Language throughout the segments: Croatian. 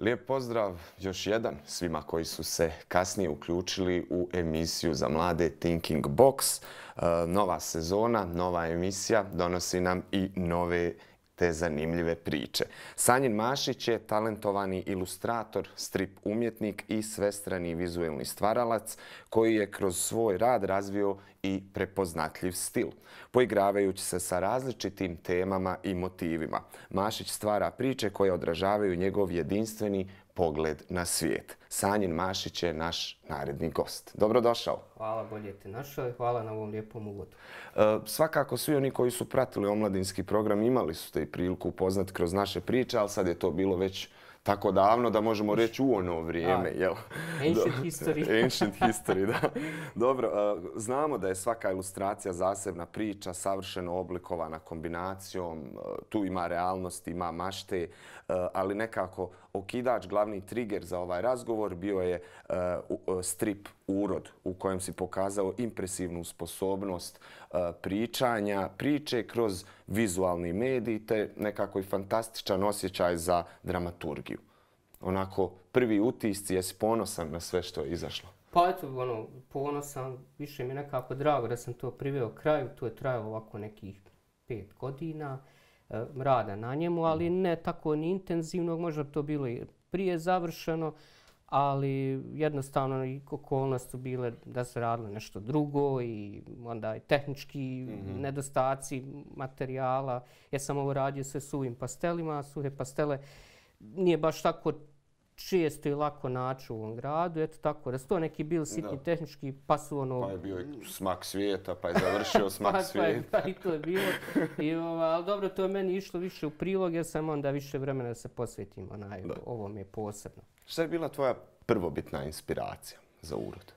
Lijep pozdrav još jedan svima koji su se kasnije uključili u emisiju za mlade Thinking Box. Nova sezona, nova emisija donosi nam i nove te zanimljive priče. Sanjin Mašić je talentovani ilustrator, strip umjetnik i svestrani vizuelni stvaralac koji je kroz svoj rad razvio i prepoznatljiv stil. Poigravajući se sa različitim temama i motivima, Mašić stvara priče koje odražavaju njegov jedinstveni pogled na svijet. Sanjin Mašić je naš naredni gost. Dobrodošao. Hvala, bolje te našao i hvala na ovom lijepom uvodu. Svakako svi oni koji su pratili omladinski program imali su te i priliku upoznati kroz naše priče, ali sad je to bilo već tako davno da možemo reći u ono vrijeme. Ancient history. Ancient history, da. Dobro, znamo da je svaka ilustracija zasebna priča, savršeno oblikovana kombinacijom. Tu ima realnost, ima mašte, ali nekako okidač, glavni trigger za ovaj razgovor bio je strip Urod u kojem si pokazao impresivnu sposobnost pričanja, priče kroz vizualni medij te nekako i fantastičan osjećaj za dramaturgiju. Onako, prvi utisci, jesi ponosan na sve što je izašlo? Pa eto, ponosan, više mi je nekako drago da sam to priveo kraju. To je trajalo ovako nekih 5 godina rada na njemu, ali ne tako ni intenzivno, možda to bilo i prije završeno, ali jednostavno i okolnosti su bile da se radilo nešto drugo i onda i tehnički nedostaci materijala. Ja sam ovo radio sve suvim pastelima, suhe pastele nije baš tako često i lako naći u ovom gradu. Eto tako, da su to neki bili sitni tehnički, pa su ono... Pa je bio i Smak svijeta, pa je završio Smak svijeta. Pa i to je bilo. Ali dobro, to je meni išlo više u prilog jer sam onda više vremena da se posvetim ovom je posebno. Šta je bila tvoja prvobitna inspiracija za Urod?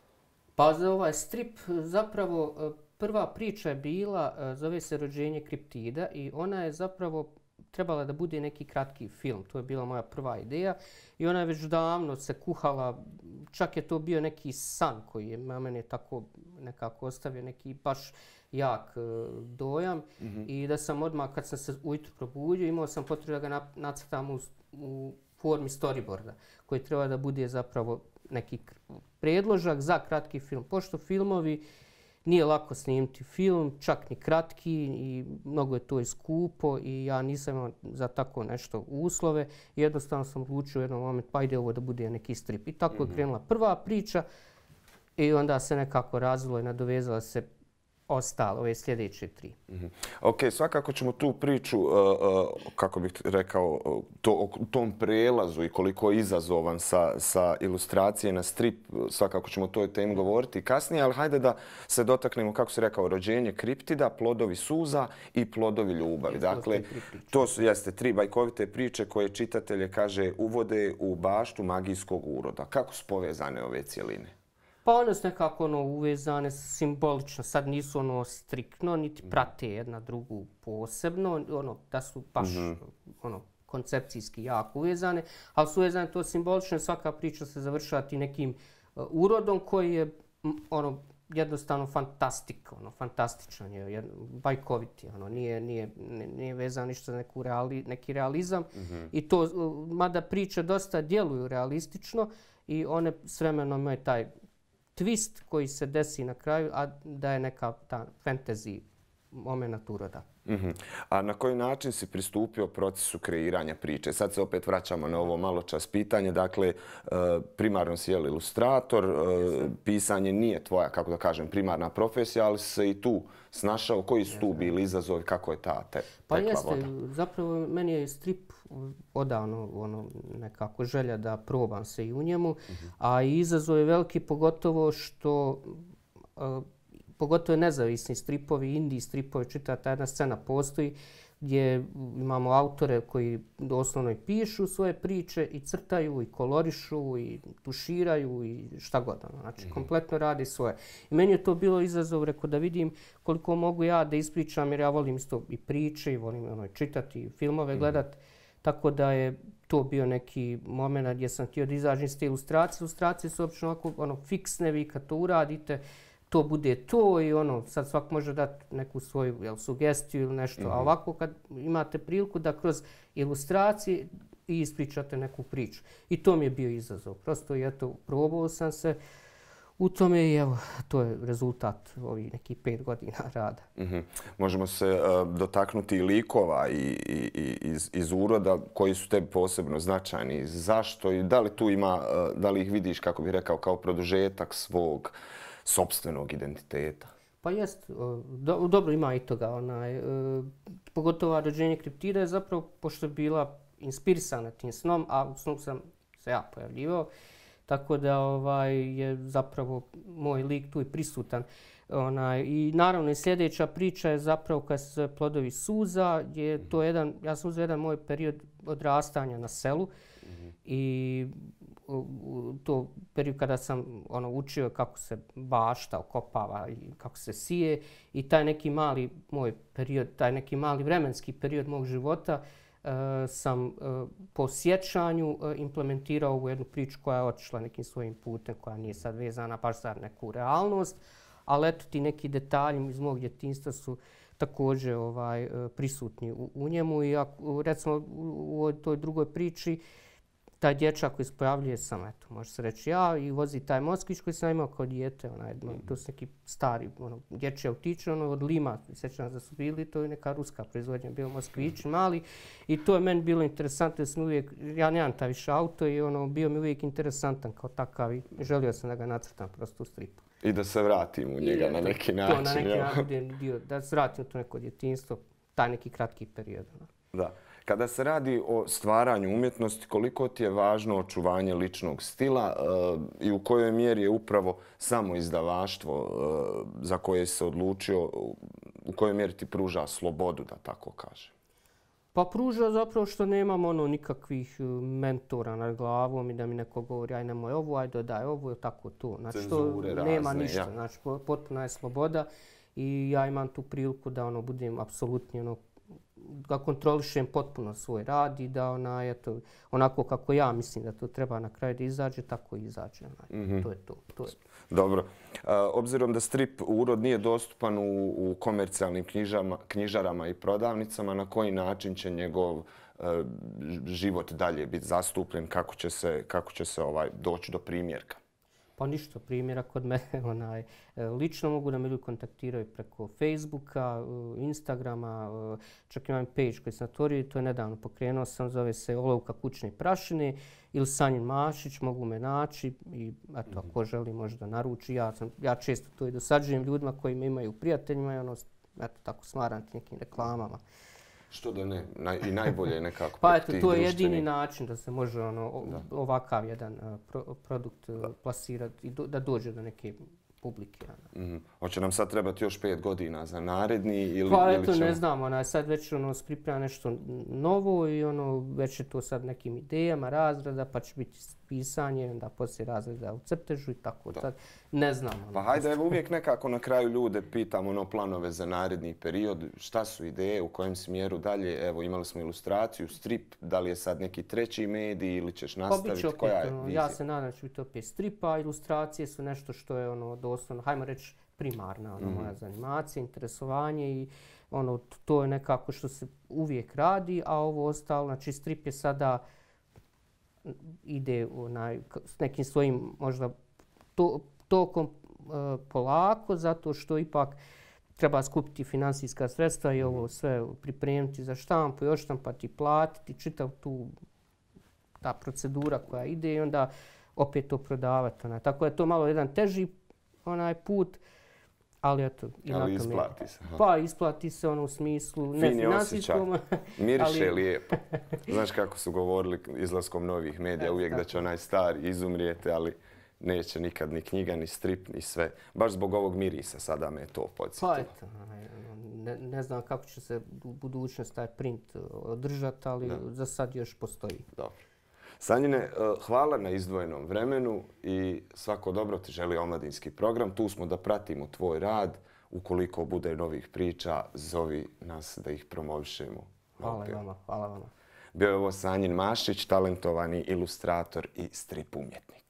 Pa za ovaj strip zapravo prva priča je bila, zove se Rođenje kriptida i ona je zapravo trebala da bude neki kratki film. To je bila moja prva ideja i ona je već davno se kuhala, čak je to bio neki san koji je na mene tako nekako ostavio neki baš jak dojam i da sam odmah kad sam se ujutro probudio imao sam potrebu da ga nacrtam u formi storyboarda koji treba da bude zapravo neki predložak za kratki film. Pošto filmovi nije lako snimiti film, čak ni kratki i mnogo je to i skupo i ja nisam imao za tako nešto uslove. Jednostavno sam odlučio u jednom momentu pa ide ovo da bude neki strip. I tako je krenula prva priča i onda se nekako razvilo i nadovezala se ostalo, ove sljedeće 3. Ok, svakako ćemo tu priču, kako bih rekao, u tom prelazu i koliko je izazovan sa ilustracije na strip, svakako ćemo o toj temi govoriti kasnije, ali hajde da se dotaknemo, kako si rekao, Rođenje kriptida, Plodovi suza i Plodovi ljubavi. Dakle, to su 3 bajkovite priče koje čitatelje, kaže, uvode u baštu magijskog uroda. Kako su povezane ove cjeline? Pa one su nekako uvezane simbolično, sad nisu striktno, niti prate jedna drugu posebno, da su baš koncepcijski jako uvezane, ali su uvezane to simbolično, svaka priča se završava ti nekim urodom koji je jednostavno fantastičan je, bajkoviti, nije vezan ništa za neki realizam i to, mada priče dosta djeluju realistično i one s vremenom imaju taj twist koji se desi na kraju, a da je neka ta fantasy moment uroda. A na koji način si pristupio procesu kreiranja priče? Sad se opet vraćamo na ovo malo čas pitanje. Dakle, primarno si ilustrator, pisanje nije tvoja, kako da kažem, primarna profesija, ali se i tu snašao. Koji su tu bili izazovi, kako je ta tekla voda? Pa jeste, zapravo meni je strip odavno nekako želja da probam se i u njemu, a izazov je veliki pogotovo što pogotovo nezavisni stripovi, indie stripovi, ta jedna scena postoji gdje imamo autore koji doslovno i pišu svoje priče i crtaju i kolorišu i tuširaju i šta god. Znači, kompletno radi svoje. I meni je to bilo izazov, rekao, da vidim koliko mogu ja da ispričam, jer ja volim isto i priče i volim čitati i filmove gledati. Tako da je to bio neki moment gdje sam htio da izađem iz te ilustracije. Ilustracije su uopće fiksne, vi kad to uradite, to bude to i sad svak može dati neku svoju sugestiju ili nešto. A ovako kad imate priliku da kroz ilustracije i ispričate neku priču. I to mi je bio izazov. Prosto, eto, probao sam se u tome i evo, to je rezultat ovih nekih 5 godina rada. Možemo se dotaknuti i likova iz uroda koji su tebi posebno značajni. Zašto i da li tu ima, da li ih vidiš, kako bih rekao, kao produžetak svog sopstvenog identiteta? Pa jest, dobro ima i toga. Pogotovo rođenje kriptida je zapravo, pošto je bila inspirisana tim snom, a u snu sam se ja pojavljivao, tako da je zapravo moj lik tu i prisutan. I naravno i sljedeća priča je zapravo kad se zove Plodovi suza, je to ja sam uzeo jedan moj period odrastanja na selu i to period kada sam učio kako se bašta okopava i kako se sije i taj neki mali moj period, taj neki mali vremenski period mog života sam po sjećanju implementirao ovu jednu priču koja je otišla nekim svojim putem, koja nije sad vezana baš za neku realnost, ali eto ti neki detalji iz mog djetinjstva su također prisutni u njemu i recimo u toj drugoj priči taj dječak koji se pojavljuje sam, eto, može se reći ja, i vozi taj Moskvić koji sam imao kao dijete, to su neki stari dječji autići, od Lima, sjećam da su bili, to je neka ruska proizvodnja, bio Moskvić mali i to je meni bilo interesantno, ja nemam taj više auto i bio mi uvijek interesantan kao takav i želio sam da ga nacrtam prosto u stripu. I da se vratim u njega na neki način. To na neki način, da se vratim u to neko djetinjstvo, taj neki kratki period. Da. Kada se radi o stvaranju umjetnosti, koliko ti je važno očuvanje ličnog stila i u kojoj mjeri je upravo samo izdavaštvo za koje se odlučio, u kojoj mjeri ti pruža slobodu, da tako kažem? Pa pruža zapravo što nemam nikakvih mentora nad glavom i da mi neko govori aj nemoj ovo, aj dodaj ovo, tako to. Znači to nema ništa, znači potpuna je sloboda i ja imam tu priliku da budem apsolutni da kontrolišem potpuno svoj rad i da onako kako ja mislim da to treba na kraju da izađe, tako i izađe. To je to. Dobro. Obzirom da strip urod nije dostupan u komercijalnim knjižarama i prodavnicama, na koji način će njegov život dalje biti zastupljen, kako će se doći do primjerka? Pa ništa, primjera kod mene. Lično mogu da me ljudi kontaktiraju preko Facebooka, Instagrama, čak imam page koji sam otvorio i to je nedavno pokrenuo sam, zove se Olovka kućne prašine ili Sanjin Mašić, mogu me naći i eto, ako želi možda naruči. Ja često to i dosađujem ljudima koji me imaju prijateljima i eto, tako smaram nekim reklamama. Što da ne, i najbolje je nekako pa eto, to je jedini način da se može ovakav jedan produkt plasirati i da dođe do neke publike. Hoće nam sad trebati još 5 godina za naredni ili pa eto, ne znam, sad već priprema nešto novo i već je to sad nekim idejama razrada, pa će biti pisanje, onda poslije razreda u crtežu i tako. Sad ne znam. Pa hajde, evo uvijek nekako na kraju ljude pitam planove za naredni period, šta su ideje, u kojem smjeru dalje, evo imali smo ilustraciju, strip, da li je sad neki treći medij ili ćeš nastaviti, koja je vizija? Ja se nadam da će biti opet stripa, ilustracije su nešto što je doslovno, hajmo reći, primarna moja zanimacija, interesovanje i to je nekako što se uvijek radi, a ovo ostalo, znači strip je sada ide s nekim svojim možda tokom polako, zato što ipak treba skupiti finansijska sredstva i ovo sve pripremiti za štampu i odštampati, platiti, čitav ta procedura koja ide i onda opet to prodavati. Tako je to malo jedan teži put, ali eto. Ali isplati se. Pa isplati se u smislu ne finansijskom. Miriše lijepo. Znaš kako su govorili izlaskom novih medija, uvijek da će onaj stari izumrijeti, ali neće nikad ni knjiga, ni strip, ni sve. Baš zbog ovog mirisa sada me je to podsjetilo. Pa eto, ne znam kako će se u budućnosti taj print održati, ali za sad još postoji. Dobro. Sanjine, hvala na izdvojenom vremenu i svako dobro ti želi Omladinski program. Tu smo da pratimo tvoj rad. Ukoliko bude novih priča, zovi nas da ih promovišemo. Hvala vama. Bio je ovo Sanjin Mašić, talentovani ilustrator i strip umjetnik.